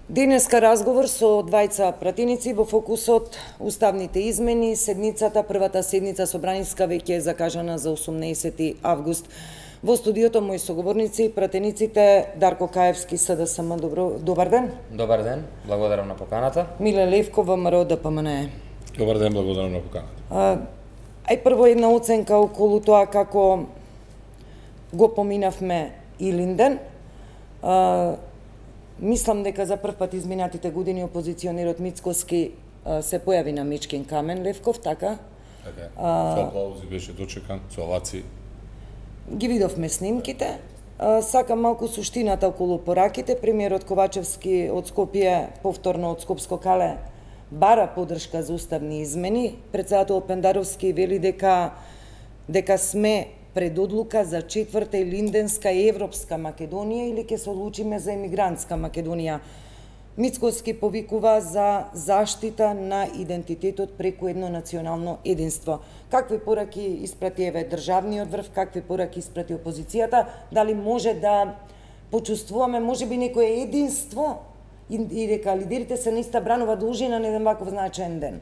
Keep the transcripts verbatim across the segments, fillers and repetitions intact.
Денеска разговор со двајца пратеници во фокусот уставните измени. Седницата, првата седница собраниска веќе е закажана за осумнаесети август. Во студиото мои соговорници, пратениците Дарко Каевски, СДСМ. Добро, добар ден. Добар ден, благодарам на поканата. Миле Левков, ВМРО ДПМНЕ. Добар ден, благодарам на поканата. А, ај прво една оценка околу тоа како го поминавме Илинден. А, Мислам дека за прв пат изминатите години опозиционерот Мицкоски се појави на Мечкин камен, Левков, така? Така, со аплаузи беше дочекан, со овации. Ги видовме снимките. А, сакам малку суштината околу пораките. Премиерот Ковачевски од Скопје, повторно од Скопско кале, бара поддршка за уставни измени. Председателот Пендаровски вели дека дека сме пред одлука за четврта илинденска и европска Македонија или ќе се одлучиме за емигрантска Македонија. Мицкоски повикува за заштита на идентитетот преку едно национално единство. Какви пораки испрати еве државниот врв, какви пораки испрати опозицијата, дали може да почувствуваме можеби некое единство и дека лидерите се наиста бранува должина на еден ваков значаен ден?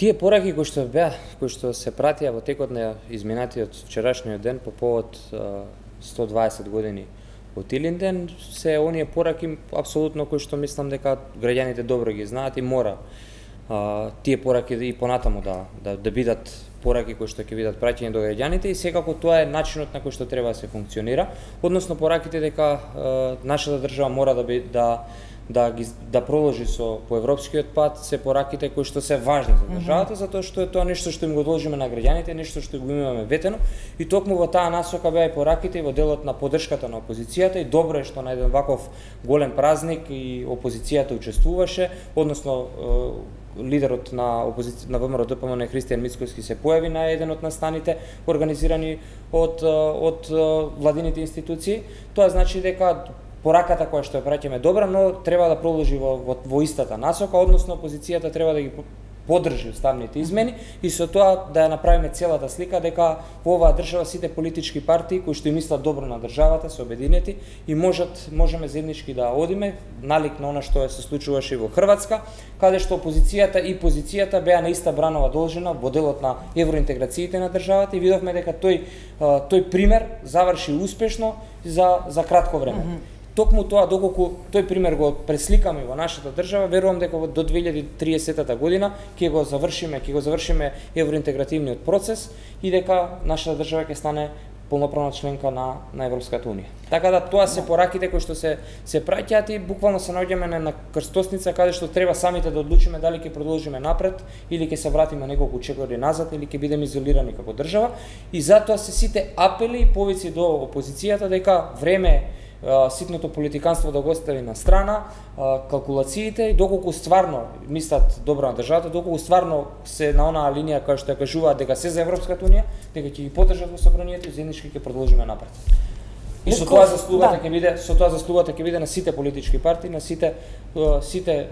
Тие пораки кои што беа, кои што се пратија во текот на изминатиот вчерашниот ден по повод сто дваесет години од Илинден, се оние пораки апсолутно кои што мислам дека граѓаните добро ги знаат и мора а, тие пораки и понатаму да, да, да бидат пораки кои што ќе бидат праќани до граѓаните и секако тоа е начинот на кој што треба да се функционира, односно пораките дека а, нашата држава мора да би, да да ги да проложи со по европскиот пат се пораките кои што се важни за државата, затоа што е тоа нешто што им го должиме на граѓаните, нешто што го имаме ветено и токму во таа насока беа и пораките и во делот на поддршката на опозицијата и добро е што на еден ваков голем празник и опозицијата учествуваше, односно лидерот на опозиција на ВМРО ДПМНЕ Христијан Мицкоски се појави на еден од настаните организирани од од владините институции. Тоа значи дека пораката која што ја праќаме добра, но треба да продолжи во, во, во истата насока, односно опозицијата треба да ги поддржи уставните измени и со тоа да ја направиме целата слика дека во оваа држава сите политички партии кои што им мислат добро на државата се обединети и можат можеме заеднички да одиме налик на она што се случуваше и во Хрватска, каде што опозицијата и позицијата беа на иста бранова должина во делот на евроинтеграциите на државата и видовме дека тој тој пример заврши успешно за за кратко време. Mm -hmm. Токму тоа, доколку тој пример го пресликаме во нашата држава, верувам дека до две илјади и триесета година ќе го завршиме, ќе го завршиме евроинтегративниот процес и дека нашата држава ќе стане полноправна членка на на Европската унија. Така да тоа се пораките кои што се се праќаат и буквално се наоѓаме на, на крстосница каде што треба самите да одлучиме дали ќе продолжиме напред или ќе се вратиме неколку чекори назад или ќе бидеме изолирани како држава и затоа се сите апели и повици до опозицијата дека време ситното политиканство да го остави на страна, калкулациите и доколку стварно мислат добро на државата, доколку стварно се на онаа линија која што ја кажуваат дека се за Европската унија, дека ќе ги поддржат во собранието и заеднички ќе продолжиме напред. И со тоа заслугата ќе биде, со тоа заслугата ќе биде на сите политички партии, на сите сите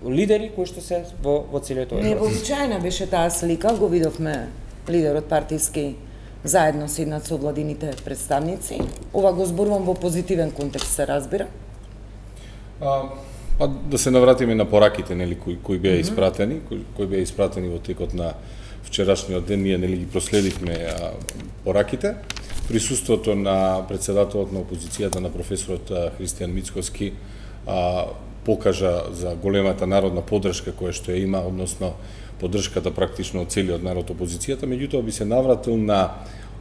лидери кои што се во во целиот овој процес. Невообичаена беше таа слика, го видовме лидерот партиски заедно седнат со владините представници. Ова го зборувам во позитивен контекст, се разбира. А, па да се навратиме на пораките, нели, кои кои беа mm -hmm. испратени, кои, кои беа испратени во текот на вчерашниот ден, ние нели ги проследивме а, пораките. Присуството на председателот на опозицијата, на професорот Христијан Мицкоски, а, покажа за големата народна поддршка која што ја има, односно поддршката практично од целиот народ опозицијата, меѓутоа би се навратил на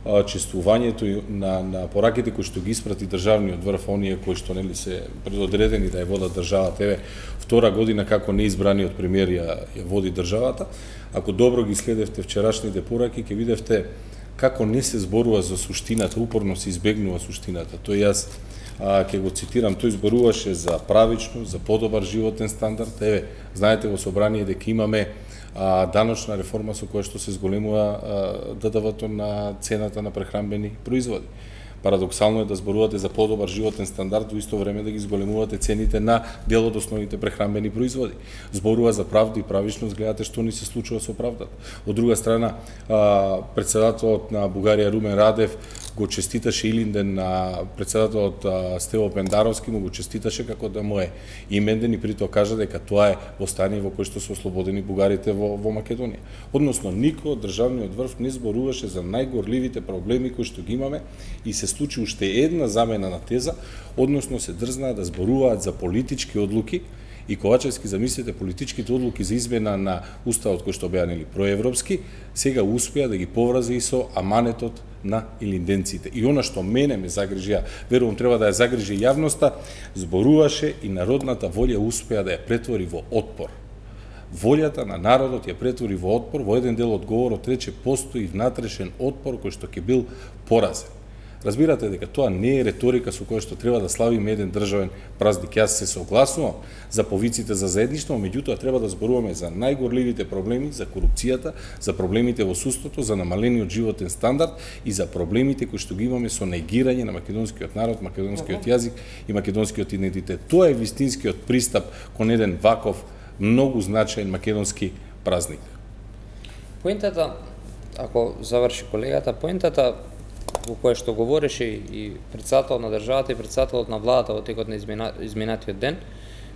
а, чествувањето и на, на пораките кои што ги испрати државниот врв, оние кои што нели се предодредени да ја водат државата. Еве, втора година како неизбраниот премиер ја, ја води државата. Ако добро ги следевте вчерашните пораки, ќе видевте како не се зборува за суштината, упорно се избегнува суштината. Тој јас а, ќе го цитирам, тој зборуваше за правично, за подобар животен стандард. Еве, знаете во собрание дека имаме а, даночна реформа со која што се зголемува ДДВ-то на цената на прехранбени производи. Парадоксално е да зборувате за подобар животен стандард, во исто време да ги зголемувате цените на дел од основните прехранбени производи. Зборува за правда и правичност, гледате што ни се случува со правдата. Од друга страна, председателот на Бугарија Румен Радев го честиташе Илинден на председателот Стево Пендаровски, му го честиташе како да му е именден и притоа кажа дека тоа е во стание во кое што се ослободени бугарите во, во Македонија. Односно, никој од државниот врв не зборуваше за најгорливите проблеми кои што ги имаме и се случи уште една замена на теза, односно се дрзнаа да зборуваат за политички одлуки и Ковачевски, замислите, политичките одлуки за измена на уставот кој што беа нели проевропски, сега успеа да ги поврази и со аманетот на илинденците. И она што мене ме загрижија, верувам треба да ја загрижи јавноста, зборуваше и народната волја успеа да ја претвори во отпор. Волјата на народот ја претвори во отпор, во еден дел од говорот рече постои внатрешен отпор кој што ќе бил поразен. Разбирате дека тоа не е реторика со која што треба да славиме еден државен празник. Јас се согласувам за повиците за заедништво, меѓутоа треба да зборуваме за најгорливите проблеми, за корупцијата, за проблемите во судството, за намалениот животен стандард и за проблемите кои што ги имаме со негирање на македонскиот народ, македонскиот јазик и македонскиот идентитет. Тоа е вистинскиот пристап кон еден ваков многу значаен македонски празник. Поентата, ако заврши колегата, поентата во која што говореше и председателот на државата и председателот на владата во текот на изминатиот ден,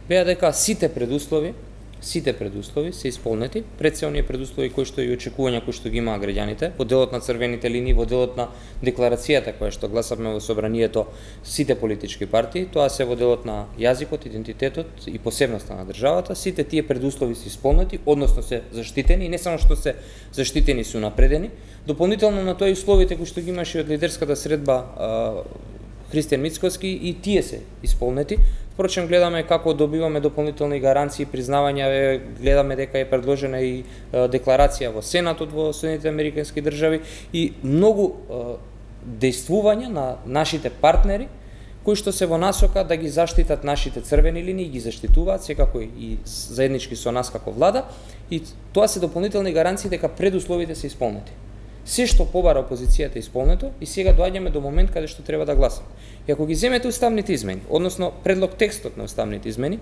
беа дека сите предуслови, сите предуслови се исполнети, пред се оние предуслови кои што и очекувања кои што ги имаа граѓаните, во делот на црвените линии, во делот на декларацијата која што гласавме во собранието сите политички партии, тоа се во делот на јазикот, идентитетот и посебноста на државата, сите тие предуслови се исполнети, односно се заштитени, и не само што се заштитени, се унапредени. Дополнително на тоа и условите кои што ги имаше од лидерската средба Христијан Мицкоски, и тие се исполнети. Впрочем, гледаме како добиваме дополнителни гаранции, признавања, гледаме дека е предложена и декларација во Сенатот во Соединетите Американски држави и многу дејствувања на нашите партнери кои што се во насока да ги заштитат нашите црвени линии, ги заштитуваат секако и заеднички со нас како влада, и тоа се дополнителни гаранции дека предусловите се исполнети. Се што побара опозицијата е исполнето и сега доаѓаме до момент каде што треба да гласаме. И ако ги земете уставните измени, односно предлог текстот на уставните измени,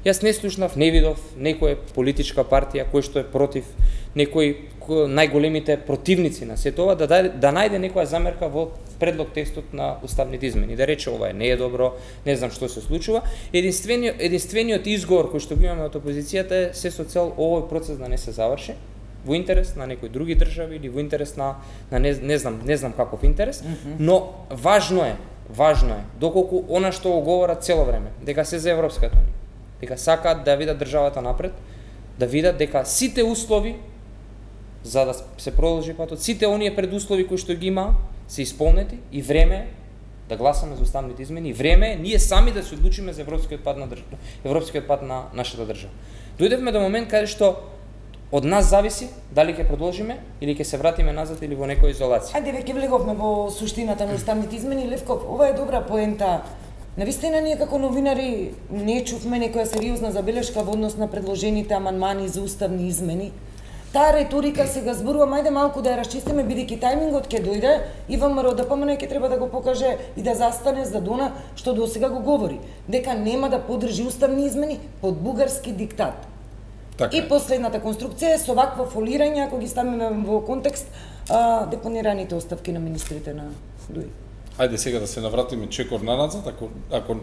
јас не слушнав, не видов некоја политичка партија кој што е против, некои најголемите противници на сето ова, да, да најде некоја замерка во предлог текстот на уставните измени, да рече ова не е добро, не знам што се случува. Единствениот, единствениот изговор кој што го имаме од опозицијата е се со цел овој процес да не се заврши во интерес на некои други држави или во интерес на, на не, не знам, не знам каков интерес, mm -hmm. но важно е, важно е доколку она што го говорат цело време, дека се за Европската унија, дека сакаат да видат државата напред, да видат дека сите услови за да се продолжи патот, сите оние предуслови кои што ги има се исполнети и време е да гласаме за уставните измени, и време е ние сами да се одлучиме за европскиот пат на држава, европскиот пат на нашата држава. Дојдевме до момент каде што од нас зависи дали ќе продолжиме или ќе се вратиме назад или во некоја изолација. Ајде веќе влеговме во суштината на уставните измени. Левков, ова е добра поента. Навистина ние како новинари не чувме некоја сериозна забелешка во однос на предложените амандмани за уставни измени. Таа риторика сега зборувам, ајде малку да ја расчистиме, бидејќи тајмингот ќе дојде и ВМРО да помне ќе треба да го покаже и да застане за дона што до сега го говори, дека нема да поддржи уставни измени под бугарски диктат. Така. И последната конструкција е со вакво фолирање, ако ги ставиме во контекст, а, депонираните оставки на министрите на ДУИ. Ајде сега да се навратиме чекор наназад, ако, ако,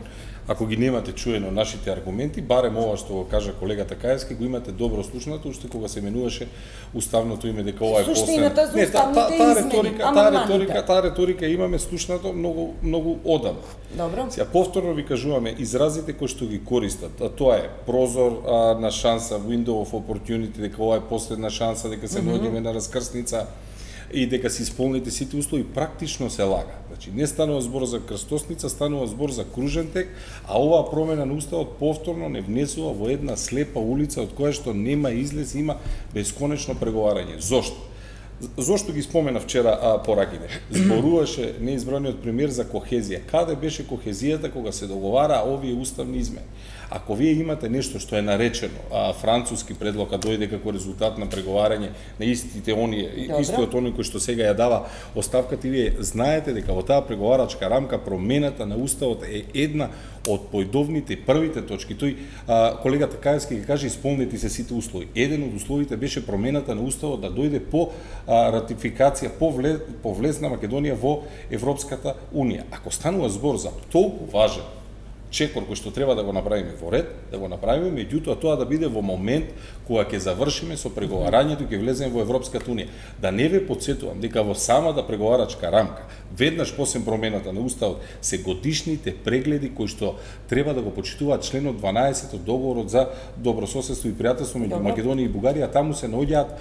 ако ги немате чуено нашите аргументи, барем ова што го кажа колегата Каевски, го имате добро слушнато, уште кога се менуваше уставното име, дека ова е последно. Суштината за уставните та, та, измени, риторика, таа риторика, таа риторика имаме слушнато многу, многу одамна. Добро. Сега повторно ви кажуваме, изразите кои што ги користат, а тоа е прозор а, на шанса, window of opportunity, дека ова е последна шанса, дека се наоѓаме mm -hmm. на раскрсница, и дека се исполните сите услови, практично се лага. Значи, не станува збор за крстосница, станува збор за кружен тек, а оваа промена на уставот повторно не внесува во една слепа улица од која што нема излез, има бесконечно преговарање. Зошто? Зошто ги спомена вчера а, пораките? Зборуваше неизбраниот премиер за кохезија. Каде беше кохезијата кога се договара овие уставни измени? Ако вие имате нешто што е наречено а, француски предлог, а дојде како резултат на преговарање на истите оние, Добре. истиот оној кој што сега ја дава оставката, и вие знаете дека во таа преговарачка рамка промената на уставот е една од појдовните првите точки. Тој а, колегата Каевски ќе каже исполнети се сите услови. Еден од условите беше промената на уставот да дојде по а, ратификација, по, влез, по влезна Македонија во Европската унија. Ако станува збор за толку важен чекор кој што треба да го направиме во ред, да го направиме, меѓутоа тоа да биде во момент кога ќе завршиме со преговарањето и ќе влеземе во Европската унија. Да не ве потсетувам дека во самата преговарачка рамка, веднаш после промената на уставот, се годишните прегледи кои што треба да го почитуваат членот дванаесет од договорот за добрососедство и пријателство меѓу Македонија и Бугарија, таму се наоѓаат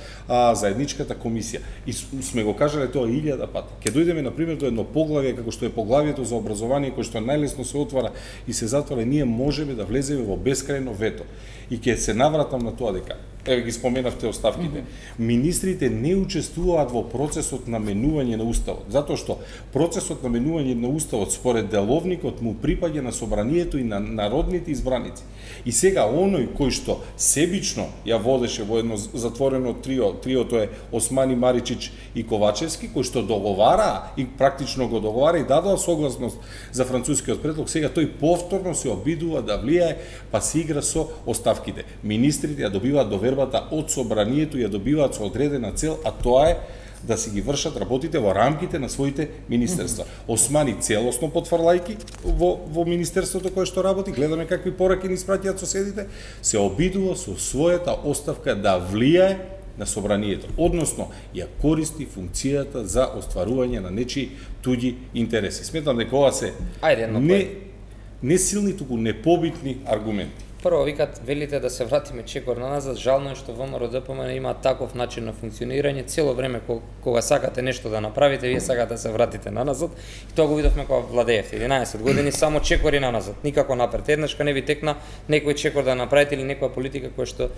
заедничката комисија. И сме го кажале тоа илјада пати. Ќе дојдеме на пример до едно поглавје како што е поглавието за образование, кој што најлесно се отвара и се затвора, ние можеме да влеземе во бескрајно вето. И ќе се навратам на тоа дека, еве ги споменавте оставките, mm -hmm. министрите не учествуваат во процесот на менување на уставот, затоа што процесот на менување на уставот според деловникот му припаѓа на собранието и на народните избраници. И сега оној кој што себично ја водеше во едно затворено трио, триото е Османи, Маричич и Ковачевски, кој што договара и практично го договара и дадоа согласност за францускиот предлог, сега тој повторно се обидува да влијае, па се игра со оставките. Министрите ја добиваат довербата од собранието, ја добиваат со одредена цел, а тоа е да си ги вршат работите во рамките на своите министерства. Османи целосно потврлајки во, во министерството кое што работи, гледаме какви пораки ни испратиат соседите, се обидува со својата оставка да влијае на собранието, односно ја користи функцијата за остварување на нечии туѓи интереси. Сметам дека ова се Ајде, не, не силни, туку непобитни аргументи. Прво, викат, велите да се вратиме чекор на назад, жално е што ВМРО Д П М Н има таков начин на функционирање, цело време кога сакате нешто да направите, вие сакате да се вратите на назад, и тоа го видовме кога владеевте единаесет години, само чекори на назад, никако напред. Еднашка не ви текна некој чекор да направите или некоја политика која што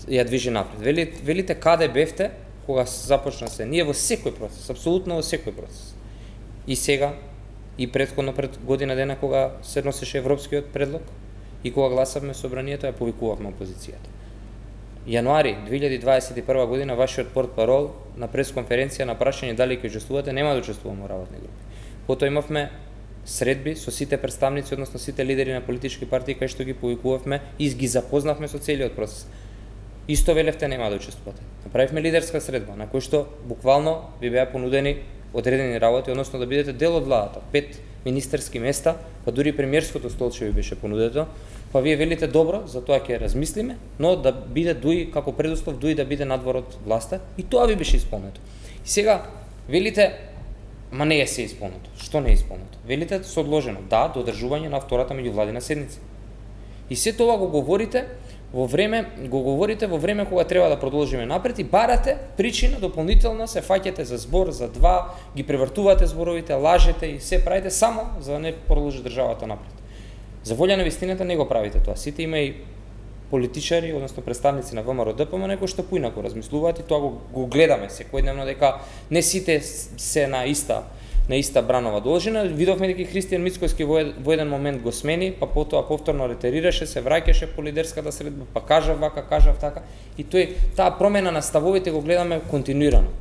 ја движи напред. Велите, велите каде бевте кога започна се? Ние во секој процес, апсолутно во секој процес. И сега, и претходно пред година дена кога се носеше европскиот предлог, и кога гласавме собранието, ја повикувавме опозицијата. Јануари две илјади дваесет и прва година вашиот портпарол на пресконференција на прашање дали ќе учествувате, нема да учествуваме во работни групи. Потоа имавме средби со сите представници, односно сите лидери на политички партии, кај што ги повикувавме и ги запознавме со целиот процес. Исто велевте нема да учествувате. Направивме лидерска средба на кој што буквално ви беа понудени одредени работи, односно да бидете дел од владата. Пет министерски места, па дури премиерското столче ви беше понудето, па вие велите добро, за тоа ќе размислиме, но да биде дуи како предуслов дуи да биде надвор од власта, и тоа ви беше исполнето. И сега велите, ма не е се исполнето. Што не е исполнето? Велите со одложено, да, до одржување на втората меѓувладина седница. И се тоа го говорите во време, го говорите во време кога треба да продолжиме напред и барате причина дополнително, се фаќате за збор, за два, ги превртувате зборовите, лажете и се правите само за да не продолжи државата напред. За волја на вистината не го правите тоа. Сите има и политичари, односно представници на ВМРО Д П М Н кои што поинаку размислуваат и тоа го, го гледаме секојдневно дека не сите се на иста на иста бранова должина. Видовме дека Христијан Мицкојски во, во еден момент го смени, па потоа повторно ретерираше, се враќаше по лидерската средба, па кажав вака, кажав така. И тој, таа промена на ставовите го гледаме континуирано.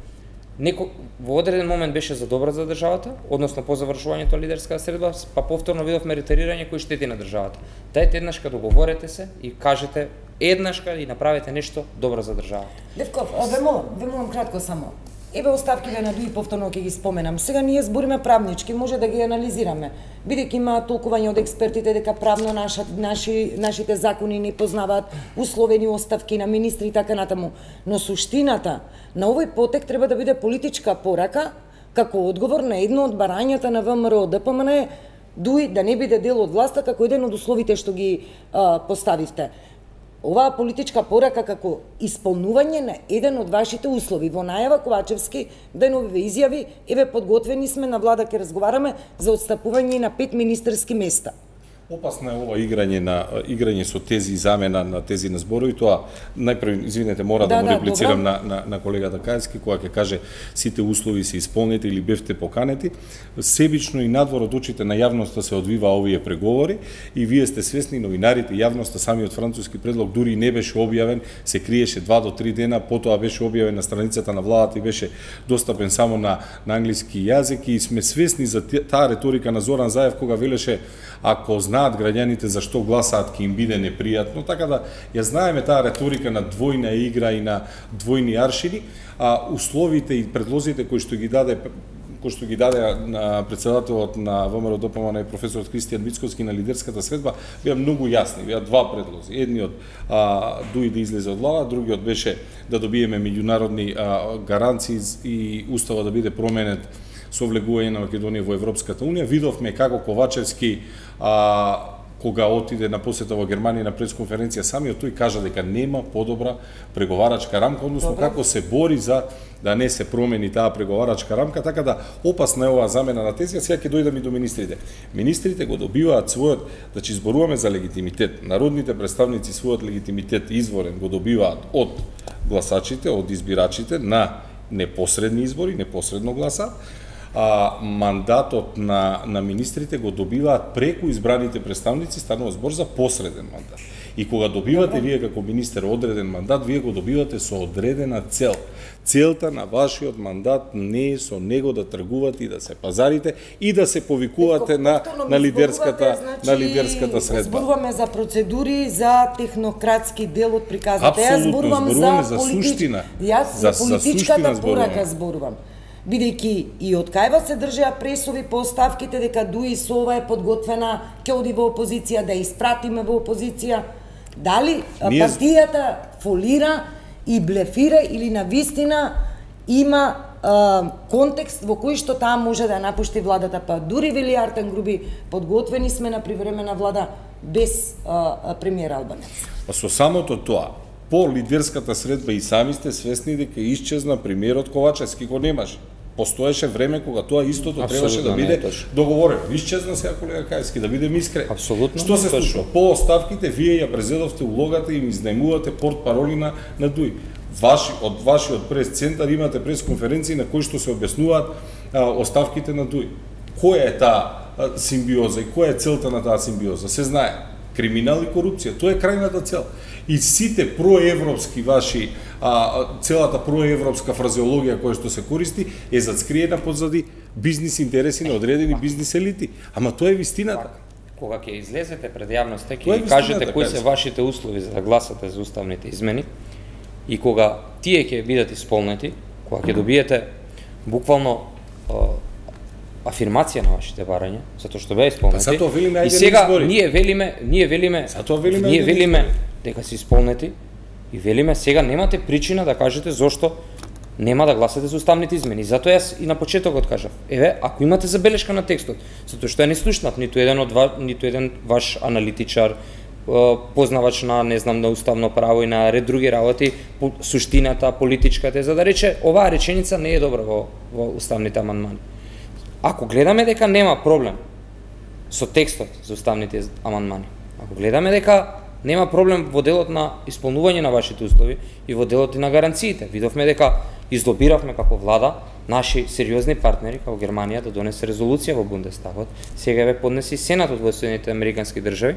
Неко, во одреден момент беше за добро за државата, односно по завршувањето на лидерската средба, па повторно видовме ретерирање кој штети на државата. Дајте еднашка договорете се и кажете еднашка и направете нешто добро за државата. Левков, ве молам, ве молам кратко само. Еве оставките на Дуи повторно ќе ги споменам. Сега ние збориме правнички, може да ги анализираме. Бидејќи има толкување од експертите дека правно наша, наши, нашите закони не познаваат условени оставки на министри и така натаму. Но суштината на овој потек треба да биде политичка порака како одговор на едно од барањата на ВМРО Д П М Н Дуи да не биде дел од власта како еден од условите што ги а, поставивте. Оваа политичка порака како исполнување на еден од вашите услови. Во најава Ковачевски деновиве изјави, еве подготвени сме на влада ќе разговараме за отстапување на пет министерски места. Опасно е ова играње на играње со тези замена на тези на зборови, тоа најпрво извинете мора да, да му реплицирам да, на, на на колегата Кајски кога ќе каже сите услови се исполнети или бевте поканети, себично и надвор од очите на јавноста се одвива овие преговори и вие сте свесни, новинарите, јавноста, самиот француски предлог дури не беше објавен, се криеше два до три дена, потоа беше објавен на страницата на владата и беше достапен само на на англиски јазик и сме свесни за таа реторика на Зоран Заев кога велеше ако знаат граѓаните зашто гласаат ќе им биде непријатно, така да ја знаеме таа реторика на двојна игра и на двојни аршини, а условите и предлозите кои што ги даде кои што ги даде на председателот на ВМРО Д П М Н и професорот Кристијан Мицковски на лидерската средба беа многу јасни, беа два предлози. Едниот а, дуи да излезе од влада, другиот беше да добиеме меѓународни а, гаранции и уставот да биде променет со влегување на Македонија во Европската унија. Видовме како Ковачевски а, кога отиде на посета во Германија на пресконференција, самиот тој кажа дека нема подобра преговарачка рамка, односно Добре. како се бори за да не се промени таа преговарачка рамка, така да опасна е оваа замена на тези, а сега ќе дојдам и до министрите. Министрите го добиваат својот, значи зборуваме за легитимитет, народните представници својот легитимитет изворен го добиваат од гласачите, од избирачите на непосредни избори, непосредно гласаат, а мандатот на на министрите го добиваат преку избраните представници, станува збор за посреден мандат. И кога добивате Добре. вие како министер одреден мандат, вие го добивате со одредена цел. Целта на вашиот мандат не е со него да тргувате и да се пазарите и да се повикувате на на лидерската значи, на лидерската средба. Зборуваме за процедури, за технократски дел од приказите. Јас зборувам за, за суштина. Јас за, за политичката порака зборувам. Бидејќи и од кајва се држеа пресови по оставките дека дуи со ова е подготвена, ќе оди во опозиција, да испратиме во опозиција. Дали Ние... партијата фолира и блефира или навистина има а, контекст во кој што таа може да напушти владата, па дури вели Артем Груби, подготвени сме на привремена влада без а, премиер Албанец. Па со самото тоа, по лидерската средба и сами сте свесни дека исчезна премиерот Ковачевски, го немаше. Постоеше време кога тоа истото Абсолютно требаше да биде договорено. Исчезна сега колега Кајски, да бидеме искрени. Апсолутно. Што се случува? По оставките вие ја презедовте улогата и им изнајмувате портпароли на на ДУИ. Ваши од вашиот прес-центар имате пресконференции на кои што се објаснуваат а, оставките на ДУИ. Која е таа симбиоза и која е целта на таа симбиоза? Се знае. Криминал и корупција. Тоа е крајната цел. И сите проевропски ваши, а, целата проевропска фразеологија која што се користи е зацкриена позади бизнис интереси на одредени бизнис елити. Ама тоа е вистината. Кога ќе излезете пред јавноста, ќе кажете кои се вашите услови за да гласате за уставните измени и кога тие ќе бидат исполнети, кога ќе добиете буквално афирмација на вашите барања, затоа што беа исполнети. Па велиме, и сега ние велиме, ние велиме, велиме ние велиме дека се исполнети и велиме сега немате причина да кажете зошто нема да гласате за уставните измени. Затоа јас и на почетокот кажав, еве, ако имате забелешка на текстот, затоа што ја не слушнав ниту еден од ва, ниту еден ваш аналитичар, познавач на, не знам, на уставно право и на ред други работи, суштината, политичката, за да рече оваа реченица не е добра во, во уставните амандмани. Ако гледаме дека нема проблем со текстот за уставните амандмани, ако гледаме дека нема проблем во делот на исполнување на вашите услови и во делот и на гаранциите, видовме дека излобиравме како влада наши сериозни партнери како Германија да донесе резолуција во Бундестагот, сега ве поднеси Сенатот во Соединетите американски држави,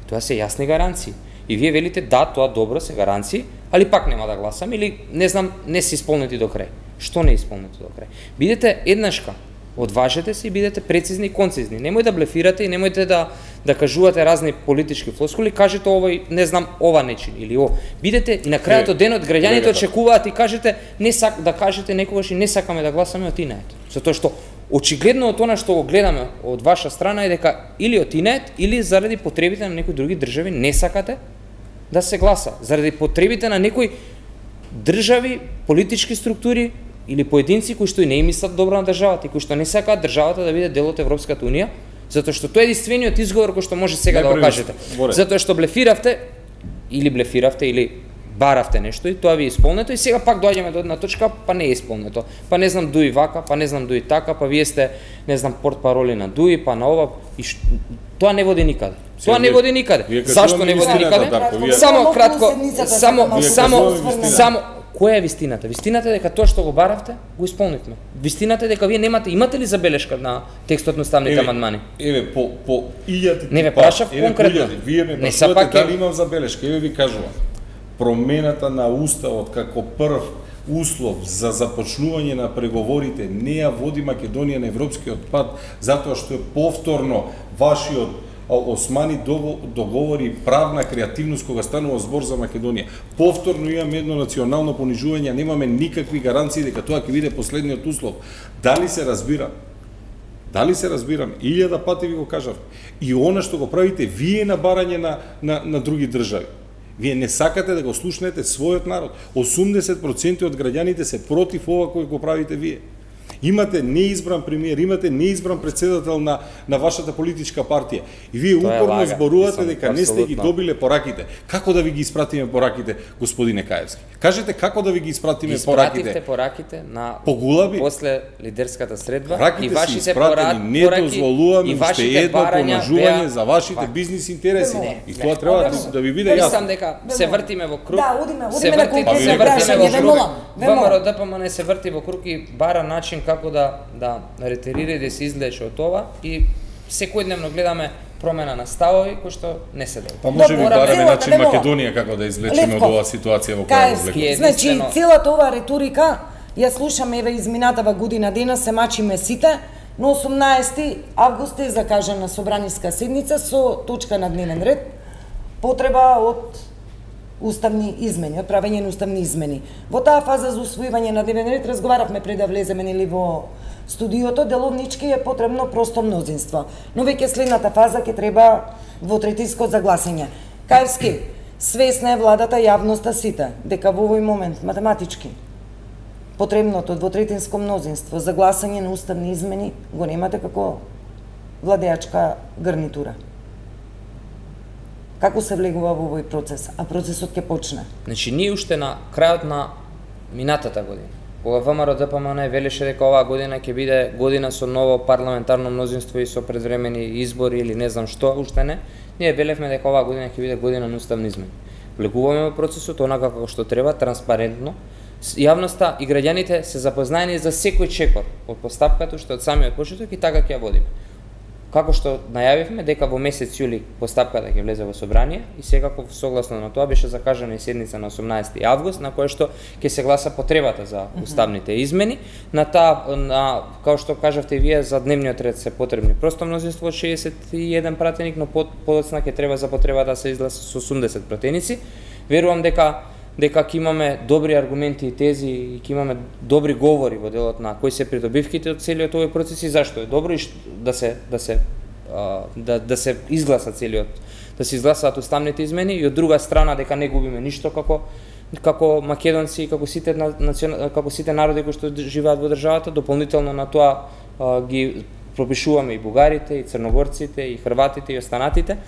тоа се јасни гаранции. И вие велите да, тоа добро се гаранции, али пак нема да гласам или не знам, не се исполнети до крај. Што не е исполнети до крај? Бидете еднашка, одважете се и бидете прецизни и концизни. Немој да блефирате и немојте да да кажувате разни политички флоскули, кажете овој, не знам, ова не чини или о. Бидете и на крајот од денот граѓаните очекуваат и кажете не сак да кажете некогаш и не сакаме да гласаме отинеет. Затоа што очигледно од она што го гледаме од ваша страна е дека или отинеет или заради потребите на некои други држави не сакате да се гласа, заради потребите на некои држави, политички структури или поединци кои што и не им мислат добро на државата и кои што не сакаат државата да биде дел од Европската унија, затоа што тоа е единствениот изговор кој што може сега да го кажете. Затоа што блефиравте или блефиравте или баравте нешто и тоа ви е исполнето и сега пак доаѓаме до една точка, па не е исполнето. Па не знам дуи вака, па не знам дуи така, па вие сте не знам портпароли на дуи, па на ова и ш... тоа не води никаде. Тоа не води никаде. Зашто не води никаде? Само кратко, само само само која е вистината? Вистината е дека тоа што го баравте, го исполнивме. Вистината е дека вие немате, имате ли забелешка на текстот на уставните амандмани? Еве по по илјади. Не ве прашав конкретно. Вие ме прашувате дали имам забелешка. Еве ви кажувам. Промената на уставот како прв услов за започнување на преговорите не ја води Македонија на европскиот пат, затоа што е повторно вашиот Османи договори правна креативност кога станува збор за Македонија. Повторно имаме едно национално понижување, немаме никакви гаранции дека тоа ќе биде последниот услов. Дали се разбира? Дали се разбирам? Илјада пати ви го кажав. И она што го правите вие на барање на, на, на други држави. Вие не сакате да го слушнете својот народ. осумдесет проценти од граѓаните се против ова кој го правите вие. Имате неизбран премиер, имате неизбран председател на на вашата политичка партија. И вие упорно зборувате дека не сте ги добиле пораките. Како да ви ги испратиме пораките, господине Каевски? Кажете како да ви ги испратиме пораките? Испративте пораките на Погулаби после лидерската средба пораките и вашите пораки, не дозволуваме уште едно помножување за вашите бизнис интереси. И тоа треба да ви биде јасно. Сам дека се вртиме во круг. Да, одиме, се одиме на вртиме, конкретни се вртиме во круг. круг. ВМРО ДПМН се врти во круг и бара начин како да да ретерира и да се излече од ова и секојдневно гледаме промена на ставови кои што не се делат. Па може би бараме начин Македонија како да излечеме од оваа ситуација во која се влегува. Значи целата оваа риторика ја слушаме еве изминатава година дена се мачиме сите, но осумнаесети август е закажана собраниска седница со точка на дневен ред потреба од уставни измени, од правење на уставни измени. Во таа фаза за усвојување на дневен ред разговаравме пред да влеземе нели во студиото, деловнички е потребно просто мнозинство. Но веќе следната фаза ќе треба двотретинско загласање. Каевски, свесна е владата, јавноста, сите, дека во овој момент математички потребното двотретинско мнозинство за гласање на уставни измени го немате како владеачка гарнитура. Како се влегува во овој процес, а процесот ќе почне? Значи, ние уште на крајот на минатата година, кога ВМРО ДПМН велеше дека оваа година ќе биде година со ново парламентарно мнозинство и со предвремени избори или не знам што, уште не, ние велевме дека оваа година ќе биде година на уставни измени. Влегуваме во процесот онака како што треба, транспарентно. Јавноста и граѓаните се запознаени за секој чекор од постапката уште од самиот почеток и така ќе ја водиме. Како што најавивме дека во месец јули постапката ќе влезе во собрание и секако согласно на тоа беше закажана и седница на осумнаесети август на која што ќе се гласа потребата за уставните измени. На таа на како што кажавте вие за дневниот ред се потребни просто мнозинство од шеесет и еден пратеник, но подоцна ќе треба за потребата да се изгласа со осумдесет пратеници. Верувам дека дека ќе имаме добри аргументи и тези и ќе имаме добри говори во делот на кои се придобивките од целиот овој процес и зашто е добро и да се да се да да се изгласа целиот да се изгласаат уставните измени и од друга страна дека не губиме ништо како како македонци и како сите национ... како сите народи кои што живеат во државата. Дополнително на тоа а, ги пропишуваме и бугарите, и црногорците, и хрватите, и останатите.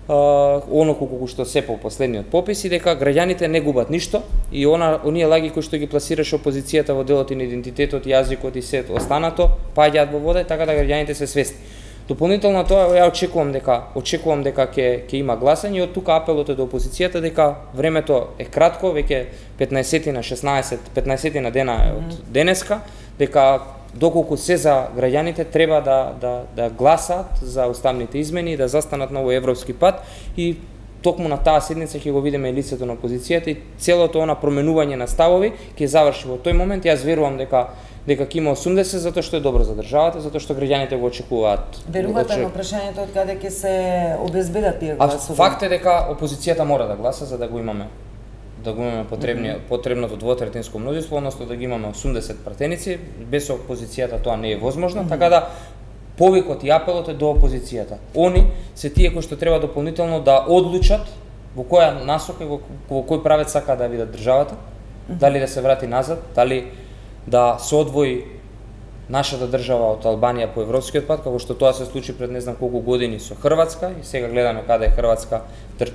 Uh, оно колку што се по последниот попис и дека граѓаните не губат ништо и она оние лаги кои што ги пласираше опозицијата во делот и на идентитетот, јазикот и сето останато паѓаат во вода, така да граѓаните се свесни. Дополнително тоа ја очекувам дека очекувам дека ќе ќе има гласање и од тука апелот е до опозицијата дека времето е кратко, веќе петнаесет на шеснаесет, петнаесет на дена е од денеска, дека доколку се за граѓаните треба да да да гласаат за уставните измени и да застанат на овој европски пат и токму на таа седница ќе го видиме лицето на опозицијата и целото она променување на ставови ќе заврши во тој момент. Јас верувам дека дека ќе има осумдесет затоа што е добро за државата, затоа што граѓаните го очекуваат. Верувате на прашањето од каде ќе се обезбедат тие гласови? А факт е дека опозицијата мора да гласа за да го имаме да го имаме потребниот mm -hmm. потребното двотретинско мнозинство, односно да ги имаме осумдесет пратеници, без опозицијата тоа не е возможно, mm -hmm. така да повикот и апелот е до опозицијата. Они се тие кои што треба дополнително да одлучат во која насока и во, во кој правец сака да видат државата, mm -hmm. дали да се врати назад, дали да се одвои нашата држава од Албанија по европскиот пат, како што тоа се случи пред не знам колку години со Хрватска и сега гледаме каде е Хрватска,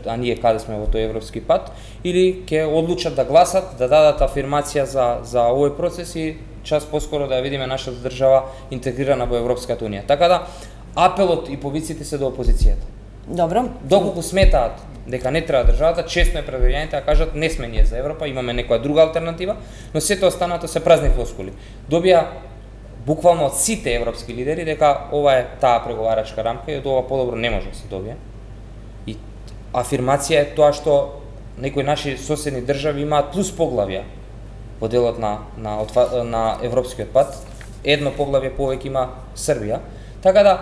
а ние каде сме во тој европски пат, или ќе одлучат да гласат, да дадат афирмација за за овој процес и час поскоро да ја видиме нашата држава интегрирана во Европската унија. Така да апелот и повиците се до опозицијата. Добро. Доколку сметаат дека не треба државата, честно е пред граѓаните да кажат не сме ние за Европа, имаме некоја друга алтернатива, но сето останато се празни флоскули. Добија буквално од сите европски лидери дека ова е таа преговарачка рамка и од ова подобро не може да се добие. И афирмација е тоа што некои наши соседни држави имаат плюс поглавја во делот на на на европскиот пат. Едно поглавје повеќе има Србија. Така да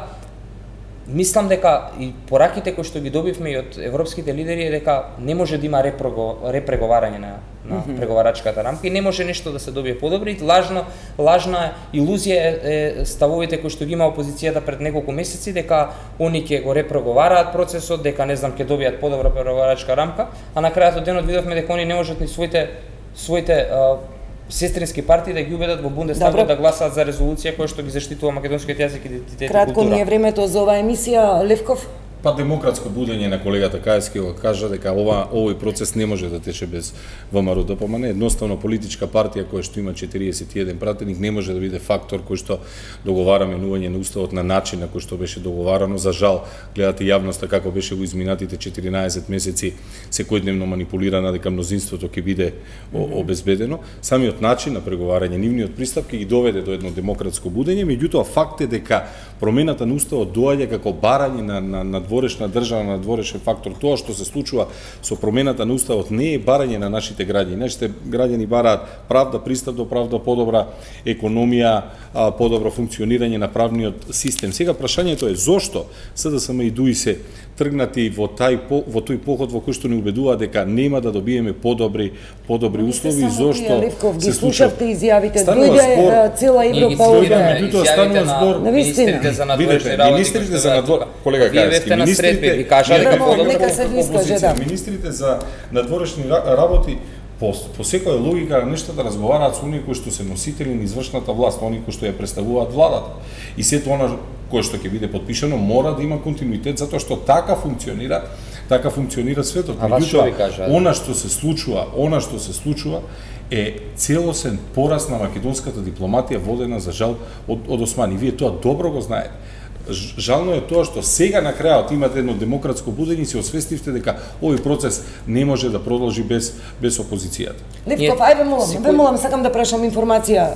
мислам дека и пораките кои што ги добивме и од европските лидери е дека не може да има репреговарање на, на mm -hmm. преговарачката рамка и не може нешто да се добие подобро и лажно, лажна илузија е, е ставовите кои што ги има опозицијата пред неколку месеци дека они ќе го репреговараат процесот, дека не знам ќе добијат подобра преговарачка рамка, а на крајот од денот видовме дека они не можат ни своите своите а, сестрински партии да ги убедат во Бундестагот да гласаат за резолуција која што ги заштитува македонскиот јазик, идентитет и култура. Кратко ми е времето за оваа емисија, Левков. Па демократско будење на колегата Каевски го кажа дека ова овој процес не може да тече без ВМРО-ДПМН. Едноставно политичка партија која што има четириесет и еден пратеник не може да биде фактор кој што договара менување на уставот на начин на кој што беше договарано. За жал, гледате јавноста како беше во изминатите четиринаесет месеци секојдневно манипулирана дека мнозинството ќе биде обезбедено. Самиот начин на преговарање, нивниот пристап ќе ги доведе до едно демократско будење, меѓутоа факт е дека промената на уставот доаѓа како барање на на, на надворешна држава, надворешен фактор. Тоа што се случува со промената на уставот не е барање на нашите граѓани. Нашите граѓани бараат правда, пристап до правда, подобра економија, подобро функционирање на правниот систем. Сега прашањето е зошто СДСМ и ДУИ се тргнати во тај во тој поход во кој што ни убедува дека нема да добиеме подобри подобри услови, зошто се слушавте изјавите, дојде цела Европа овде. Меѓутоа станува збор министрите за надворешни работи. Министрите за надвор, колега Каевски, министрите ви кажа дека нека се искаже, да. Министрите за надворешни работи по, по секоја логика на нештата разговараат со оние кои што се носители на извршната власт, оние кои што ја представуваат владата. И сето она кое што ќе биде подпишано мора да има континуитет затоа што така функционира, така функционира светот. Меѓутоа, она што се случува, она што се случува е целосен пораст на македонската дипломатија водена за жал од, од Османи. Вие тоа добро го знаете. Жално е тоа што сега на крајот имате едно демократско будење и се освестивте дека овој процес не може да продолжи без без опозицијата. Левков, ајде молам, ве молам, сакам да прашам информација.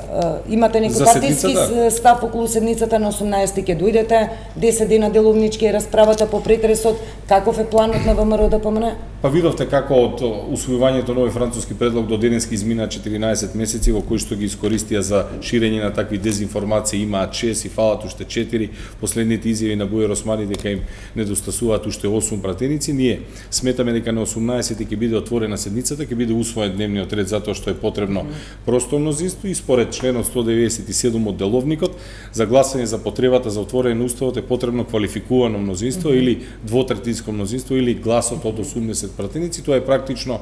Имате некој партиски да. став околу седницата на осумнаесети ќе дојдете, десет дена деловнички е расправата по претресот, каков е планот на ВМРО-ДПМН? Па видовте како од усвојувањето на овој француски предлог до денески измина четиринаесет месеци во кои што ги искористија за ширење на такви дезинформации, имаат шест и фалат уште четири. Последните изјави на Бујар Османи дека им недостасуваат уште осум пратеници. Ние сметаме дека на осумнаесети ќе биде отворена седницата, ќе биде усвоен дневниот ред затоа што е потребно просто мнозинство и според членот сто деветдесет и седум од деловникот за гласање за потребата за отворање на уставот е потребно квалификувано мнозинство mm -hmm. или двотретинско мнозинство или гласот од осумдесет пратеници. Тоа е практично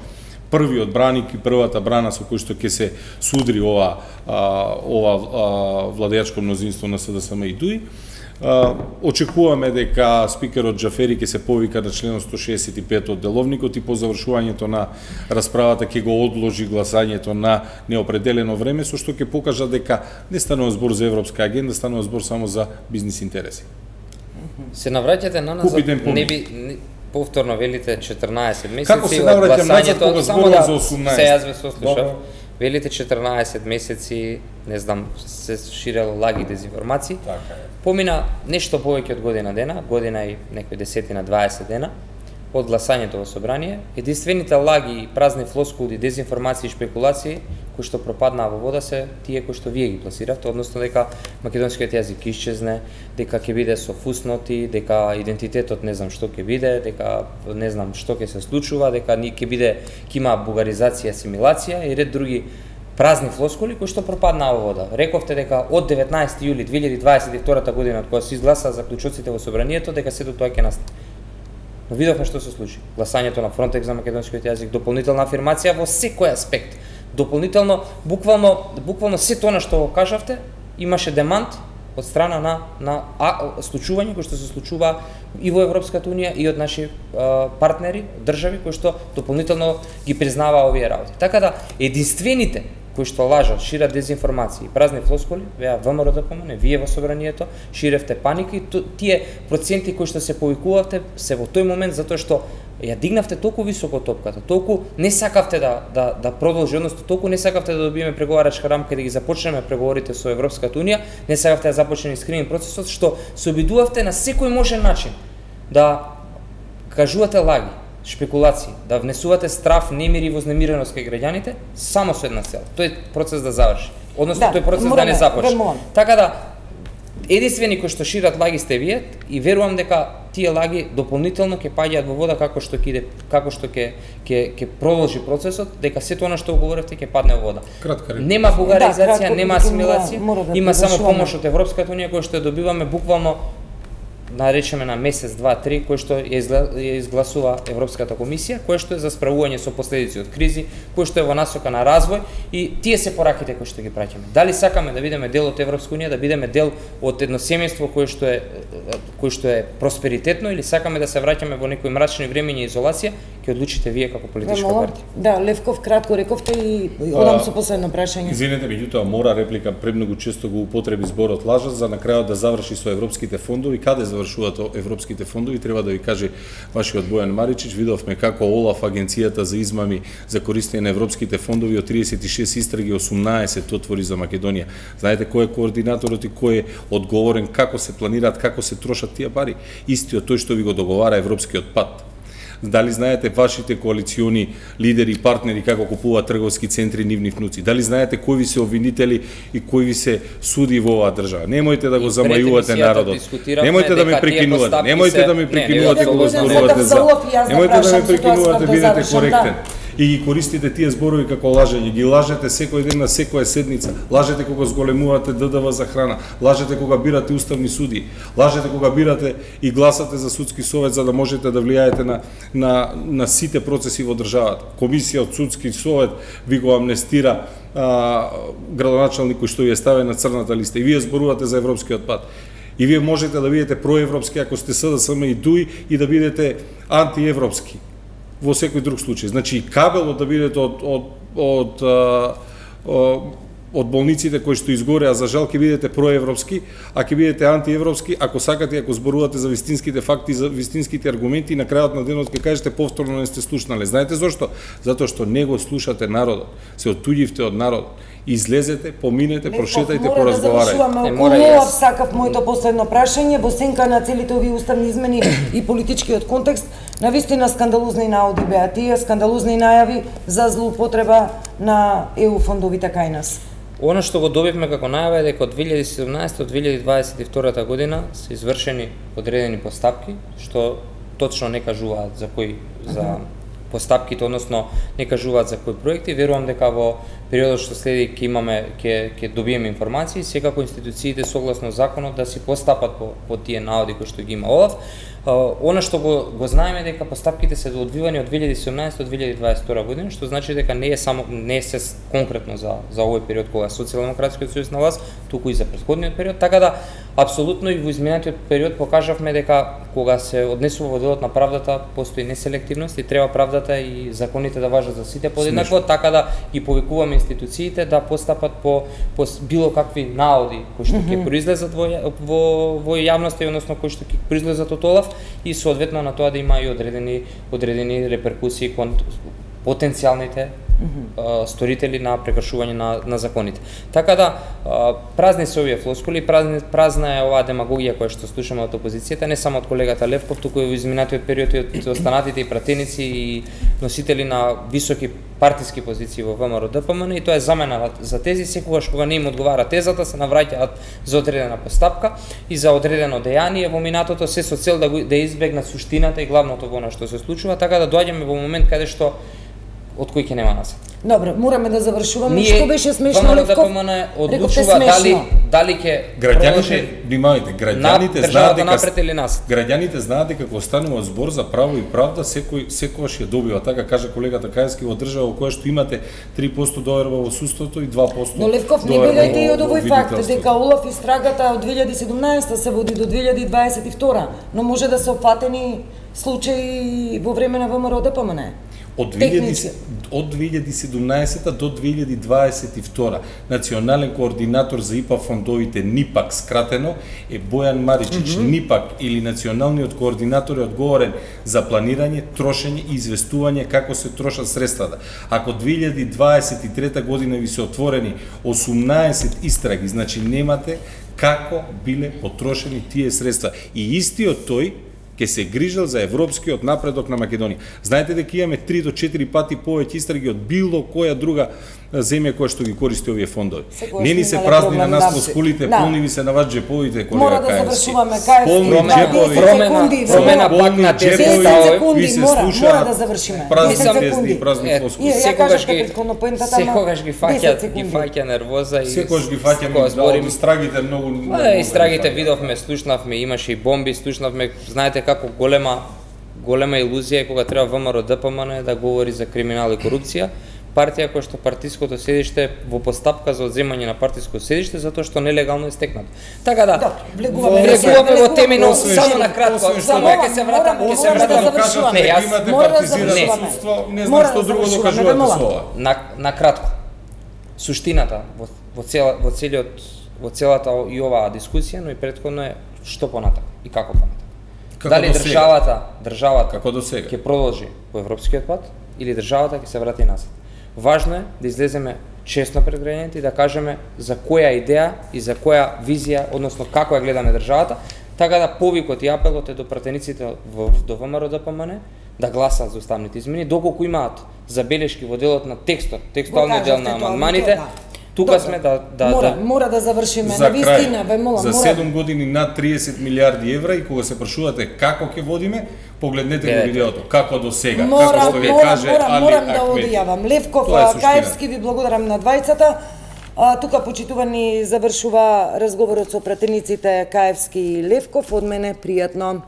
првиот браник и првата брана со кој што ќе се судри ова а, ова а, владеачко мнозинство на СДСМ и ДУИ. Uh, очекуваме дека спикерот Џафери ќе се повика на членот сто шеесет и пет од деловникот и по завршувањето на расправата ќе го одложи гласањето на неопределено време, со што ќе покажа дека не станува збор за европска агенда, станува збор само за бизнис интереси. Се навраќате на нас, не би не, повторно велите четрнаесет месеци Како се навраќам назад кога зборувам да, за осумнаесет? Се јас ве сослушав. Велите четрнаесет месеци, не знам, се ширело лаги дезинформации. Така е. Помина нешто повеќе од година дена, година и некои десетина, дваесет дена од гласањето во собрание. Единствените лаги, празни флоскули, дезинформации и шпекулации кои што пропаднаа во вода се тие кои што вие ги пласиравте, односно дека македонскиот јазик исчезне, дека ќе биде со фусноти, дека идентитетот не знам што ќе биде, дека не знам што ќе се случува, дека ќе биде ќе има бугаризација, асимилација и ред други празни флоскули кои што пропаднаа во вода. Рековте дека од деветнаесети јули две илјади дваесет и втора година, од кога се изгласа заклучоците во собранието, дека сето тоа ќе настане. Но видовме што се случи. Гласањето на Фронтекс за македонскиот јазик, дополнителна афирмација во секој аспект. Дополнително, буквално, буквално сето она што го кажавте, имаше демант од страна на на а, случување кои што се случува и во Европската унија и од наши а, партнери, држави кои што дополнително ги признаваа овие работи. Така да единствените кои што лажат, шират дезинформации, празни флоскули, беа ВМРО да помне, вие во собранието, ширевте паника и тие проценти кои што се повикувавте се во тој момент затоа што ја дигнавте толку високо топката, толку не сакавте да да да продолжи, односно толку не сакавте да добиеме преговарачка рамка и да ги започнеме преговорите со Европската унија, не сакавте да започне скрининг процесот, што се обидувавте на секој можен начин да кажувате лаги, шпекулации, да внесувате страв, немир и вознемиреност кај граѓаните, само со една цел, тој процес да заврши. Односно, да, тој процес да не започне. Така да, единствени кои што шират лаги сте вие и верувам дека тие лаги дополнително ќе паѓаат во вода како што ќе иде, како што ќе ќе ќе продолжи процесот, дека сето она што говоревте ќе падне во вода. Кратка реченица. Нема бугаризација, да, нема асимилација, да, има само помош од Европската унија која што ја добиваме буквално наречеме на месец, два, три, кој што ја изгласува Европската комисија, кој што е за справување со последици од кризи, кој што е во насока на развој и тие се пораките кои што ги праќаме. Дали сакаме да бидеме дел од Европска унија, да бидеме дел од едно семејство кое што е кој што е просперитетно или сакаме да се враќаме во некои мрачни времиња и изолација, ќе одлучите вие како политичка партија. Да, Левков кратко рековте и одам со последно прашање. Извинете, меѓутоа мора реплика, премногу често го употреби зборот лажат за на крајот да заврши со европските фондови. Каде завршуваат европските фондови? Треба да ви каже вашиот Бојан Маричич, видовме како Олаф, агенцијата за измами за користење на европските фондови, од триесет и шест истраги осумнаесет отвори за Македонија. Знаете кој е координаторот и кој е одговорен, како се планираат, како се трошат тие пари? Истиот тој што ви го договара европскиот пат. Дали знаете вашите коалициони лидери и партнери како купуваат трговски центри нивни внуци? Дали знаете кои ви се обвинители и кои ви се суди во оваа држава? Немојте да го замајувате народот. Немојте да ме прекинувате. Немојте да ме прекинувате кога зборувате за. Немојте да ме прекинувате, бидете коректен. И ги користите тие зборови како лажење. Ги лажете секој ден на секоја седница. Лажете кога зголемувате ДДВ за храна. Лажете кога бирате уставни суди. Лажете кога бирате и гласате за судски совет за да можете да влијаете на на на сите процеси во државата. Комисија од судски совет ви го амнестира а, градоначалник кој што ви е ставен на црната листа. И вие зборувате за европскиот пат. И вие можете да бидете проевропски ако сте СДСМ и ДУИ и да бидете антиевропски во секој друг случај. Значи, кабелот да бидете од, од, од, од, од болниците кои што изгореа, за жал ќе бидете проевропски, а ќе бидете антиевропски, ако сакате, ако зборувате за вистинските факти, за вистинските аргументи, и на крајот на денот ќе кажете повторно не сте слушнале. Знаете зошто? Затоа што не го слушате народот. Се оттуѓивте од народот. Излезете, поминете, прошетајте, поразговарајте. Да околу сакав моето последно прашање, во сенка на целите овие уставни измени и политичкиот контекст, навистина скандалозни наоди беа тие, скандалозни најави за злоупотреба на е у фондовите кај нас. Она што го добивме како најава е дека од две илјади и седумнаесета до две илјади дваесет и втора година се извршени одредени постапки, што точно не кажуваат за кои за постапките, односно не кажуваат за кои проекти. Верувам дека во периодот што следи ќе имаме ќе ќе добиеме информации, секако институциите согласно законот да си постапат по по тие наоди кои што ги има Олаф. Uh, она што го, го знаеме дека постапките се одвивани од две илјади и седумнаесета до две илјади дваесет и втора година, што значи дека не е само не е се конкретно за за овој период кога Социјалдемократскиот сојуз на власт, туку и за претходниот период, така да апсолутно и во изминатиот период покажавме дека кога се однесува во делот на правдата постои неселективност и треба правдата и законите да важат за сите подеднакво, така да ги повикуваме институциите да постапат по, по било какви наоди кои што ќе произлезат во во во јавноста, односно кои што ќе произлезат од Олаф, и соодветно на тоа да има и одредени одредени реперкусии кон потенцијалните uh, сторители на прекршување на, на законите. Така да, uh, празни се овие флоскули, празни, празна е оваа демагогија која што слушаме од опозицијата, не само од колегата Левков, туку и во изминатиот период и од останатите и пратеници и носители на високи партиски позиции во ВМРО Д П М Н, и тоа е замена за тези, секогаш кога не им одговара тезата, се навраќаат за одредена постапка и за одредено дејание во минатото, се со цел да, го, да избегнат суштината и главното во она што се случува, така да доаѓаме во момент каде што од кој ќе нема назад. Добро, мораме да завршуваме. Ние, што беше смешно, Левков? ВМРО Д П М Н одлучува дали дали ќе граѓаните, внимавајте, граѓаните знаат дека напред или нас. Граѓаните знаат дека кога станува збор за право и правда, секој секогаш ја добива, така каже колегата Кајевски, во држава во која што имате три проценти доверба во судството и два проценти. Но Левков, не билете и од овој факт дека Олаф истрагата од две илјади и седумнаесета се води до две илјади дваесет и втора, но може да се опфатени случаи во време на ВМРО Д П М Н. Од две илјади и седумнаесета до две илјади дваесет и втора национален координатор за И П А фондовите НИПАК скратено е Бојан Маричич. Mm -hmm. НИПАК или националниот координатор е одговорен за планирање, трошење и известување како се трошат средствата. Ако две илјади дваесет и трета година ви се отворени осумнаесет истраги, значи немате како биле потрошени тие средства. И истиот тој ќе се грижал за европскиот напредок на Македонија. Знаете дека имаме три до четири пати повеќе истраги од било која друга земја која што ги користи овие фондови. Не ни се празни на нас по скулите, да. Полни ви се на вас джеповите, колега Мора да Каевски. завршуваме, Каевски. Полни джепови, промена, промена пак на тези ставови. Ви се мора, слуша мора да завршиме. Празни песни, празни флоскули. Секогаш ги секогаш ги фаќа, ги фаќа нервоза и секогаш ги фаќаме, зборим истрагите многу. А, истрагите видовме, слушнавме, имаше и бомби, слушнавме, знаете како голема голема илузија е кога треба ВМРО Д П М Н да говори за криминал и корупција, партија која што партиското седиште во постапка за одземање на партиско седиште затоа што нелегално е стекнато. Така да, влегуваме во теми, но само на кратко, само ќе се вратам, ќе се вратам да кажате, имате партизирано судство, не знам што друго да кажувате со ова. На на кратко. Суштината во во цела во целиот во целата и оваа дискусија, но и претходно е што понатака и како понатака. Како Дали државата, државата како до сега ќе продолжи по европскиот пат или државата ќе се врати назад. Важно е да излеземе честно пред граѓаните и да кажеме за која идеја и за која визија, односно како ја гледаме државата, така да повикот и апелот е до пратениците во до ВМРО Д П М Н да гласат за уставните измени, доколку имаат забелешки во делот на текстот, текстуалниот дел на амандманите. Тука Добре. сме да да мора, да мора да завршиме за на вистина, бе мола, за мора. седум години над триесет милиарди евра и кога се прашувате како ќе водиме, погледнете го видеото, како до сега, мора, како што ви мора, каже мора, Али морам да Ахмеди. одјавам. Левков, Каевски, ви благодарам на двајцата. А, тука почитувани завршува разговорот со пратениците Каевски и Левков. Од мене пријатно.